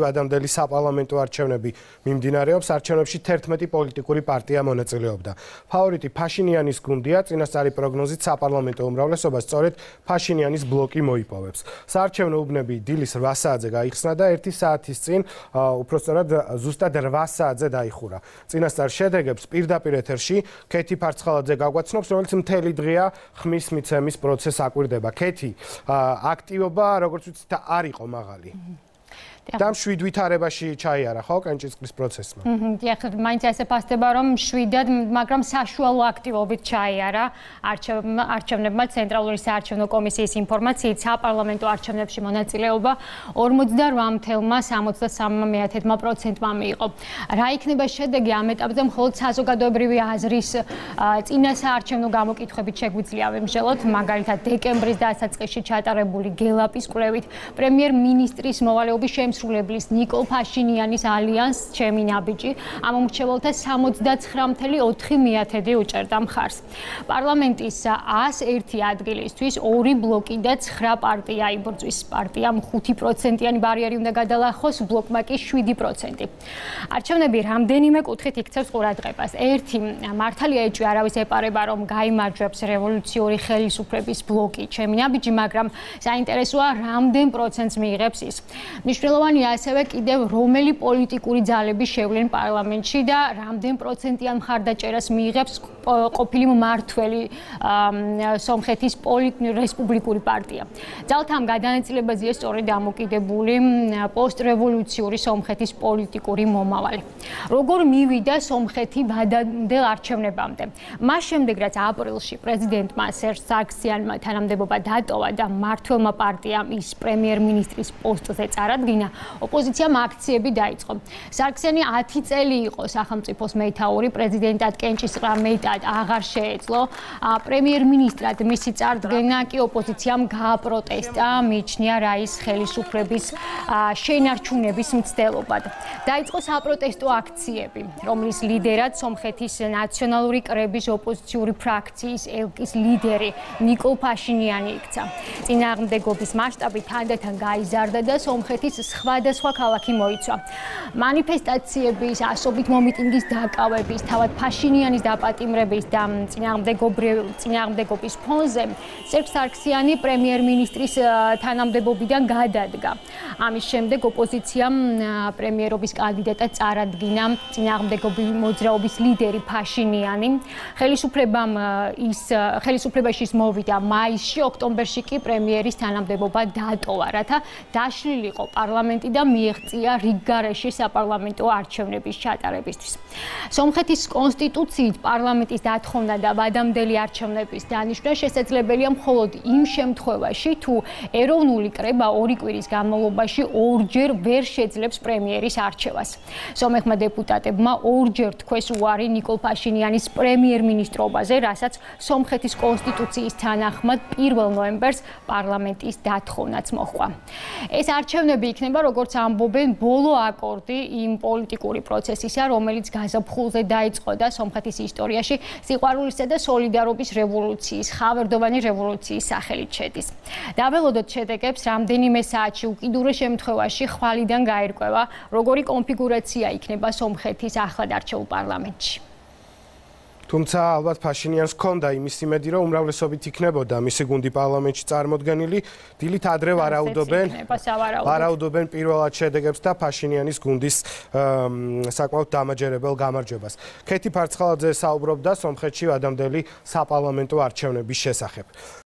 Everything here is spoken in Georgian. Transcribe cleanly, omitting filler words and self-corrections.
ადამიანელი საპარლამენტო არჩევნები მიმდინარეობს. არჩევნებში 11 პოლიტიკური პარტია მონაწილეობდა. ფავორიტი ფაშინიანის გუნდია, წინასწარი პროგნოზით საპარლამენტო უმრავლესობა სწორედ ფაშინიანის ბლოკი მოიპოვებს. საარჩევნო უბნები დილის 8 საათზე გაიხსნა და 1 საათის წინ, უпростоრად ზუსტად 8 საათზე დაიხურა. წინასწარ შედეგებს პირდაპირ ეთერში ქეთი ფარცხალაძე გაგვაცნობს, რომელიც მთელი დღეა ხმის მიცემის პროცესს აკვირდება. ქეთი, აქტივობა, როგორც ვიცით, არ იყო მაღალი. და 7 ვითარებაში ჩაიარა ხო კენჭისყრის პროცესმა. დიახ, მაინც ასე ფასდება რომ 7-დან, მაგრამ საშუალო აქტივობით ჩაიარა არჩევნებმა ცენტრალური საარჩევნო კომისიის ინფორმაციით საპარლამენტო არჩევნებში მონაწილეობა 48,63%-მა მიიღო. რა იქნება შედეგი ამ ეტაპზე მხოლოდ საზოგადოებრივი აზრის წინა საარჩევნო გამოკითხვებით შეგვიძლია ვიმსჯელოთ, მაგალითად დეკემბრის დასაწყისში ჩატარებული გელაპის კვლევით პრემიერ-მინისტრის მოვალეობის სრულებლის ნიკოლ ფაშინიანის ალიანს ჩემი ნაბიჯი ამ მომრჩეველთა 79.4% უჭერდა მხარს. პარლამენტის 101 ადგილისთვის 2 ბლოკი და 9 პარტია იბრძვის. პარტიამ 5%-იანი ბარიერი უნდა გადალახოს, ბლოკმა კი 7%. არჩევნები რამდენიმე კუთხით იქცევს ყურადღებას. ერთი, მართალია ეჭვი არავის ეპარება, რომ გაიმარჯვებს რევოლუციური ხელისუფლების ბლოკი ჩემი ნაბიჯი, მაგრამ საინტერესოა რამდენ პროცენტს მიიღებს ის. მნიშვნელოვანია ასევე კიდევ რომელი პოლიტიკური ძალები შევლენ პარლამენტში და რამდენ პროცენტიან მხარდაჭერას მიიღებს ყოფილი მმართველი სომხეთის რესპუბლიკური პარტია. ძალთა ამ გადანაწილებაზეა სწორედ დამოკიდებული პოსტრევოლუციური სომხეთის პოლიტიკური მომავალი. როგორ მივიდა სომხეთი ვადამდელ არჩევნებამდე? მას შემდეგ, რაც აპრილში პრეზიდენტმა სერჟ სარქსიანმა თანამდებობა დატოვა და მმართველმა პარტიამ ის პრემიერ-მინისტრის პოსტზე წარადგინა, ოპოზიციამ აქციები დაიწყო. სარქსიანი 10 წელი იყო სახელმწიფოს მეთაური, პრეზიდენტად კენჭისყრა მეტად აღარ შეეძლო. პრემიერ-მინისტრად მისი წარდგენა კი ოპოზიციამ გააპროტესტა, მიიჩნია რაის ხელისუფლების შენარჩუნების მცდელობად. დაიწყო საპროტესტო აქციები, რომლის ლიდერად სომხეთის ნაციონალური კრების ოპოზიციური ფრაქციის ელკის ლიდერი ნიკოლ ფაშინიანი იქცა. წინააღმდეგობის მასშტაბი თანდათან გაიზარდა და სომხეთის სხვადასხვა ქალაქი მოიცვა. მანიფესტაციების, ასობით მომიტინგის დაკავების, თავად ფაშინიანის დაპატიმრების და წინააღმდეგობის ფონზე სერჟ სარქსიანი პრემიერ-მინისტრის თანამდებობიდან გადადგა. ამის შემდეგ ოპოზიციამ პრემიერობის კანდიდატად წარადგინა წინააღმდეგობის მოძრაობის ლიდერი ფაშინიანი. ხელისუფლებაში ის მოვიდა მაისში, ოქტომბერში კი პრემიერის თანამდებობა დატოვა, რათა დაშლილიყო პარლამენტი და მიეღწია რიგგარეში საპარლამენტო არჩევნების ჩატარებისთვის. სომხეთის კონსტიტუციით პარლამენტის დათხოვნა და ვადამდელი არჩევნების დანიშვნა შესაძლებელია მხოლოდ იმ შემთხვევაში, თუ ეროვნული კრება 2 კვირის განმავლობაში ორჯერ ვერ შეძლებს პრემიერის არჩევას. სომეხმა დეპუტატებმა ორჯერ თქვეს უარი ნიკოლ ფაშინიანის პრემიერ-მინისტრობაზე, რასაც სომხეთის კონსტიტუციის თანახმად 1 ნოემბერს პარლამენტის დათოვნაც მოჰყვა. ეს არჩევნები იქნება, როგორც ამბობენ, ბოლო აკორდი იმ პოლიტიკური პროცესისა, რომელიც გაზაფხულზე დაიწყო და სომხეთის ისტორიაში სიყვარულისა და სოლიდარობის რევოლუციის, ხავერდოვანი რევოლუციის სახელით შედის. დაველოდოთ შედეგებს რამდენიმე საათში, უკიდურეს შემთხვევაში ხვალიდან გაირკვევა, როგორი კონფიგურაცია იქნება სომხეთის ახლად არჩეულ პარლამენტში. თუმცა ალბათ ფაშინიანს ჰქონდა იმის იმედი, რომ უმრავლესობით იქნებოდა მისი გუნდი პარლამენტში წარმოდგენილი, დილით ადრე ვარაუდობენ პირველად შედეგებს და ფაშინიანის გუნდის საკმაოდ დამაჯერებელ გამარჯვებას. ქეთი ფარცხალაძე საუბრობდა სომხეთში ვადამდელი საპარლამენტო არჩევნების შესახებ.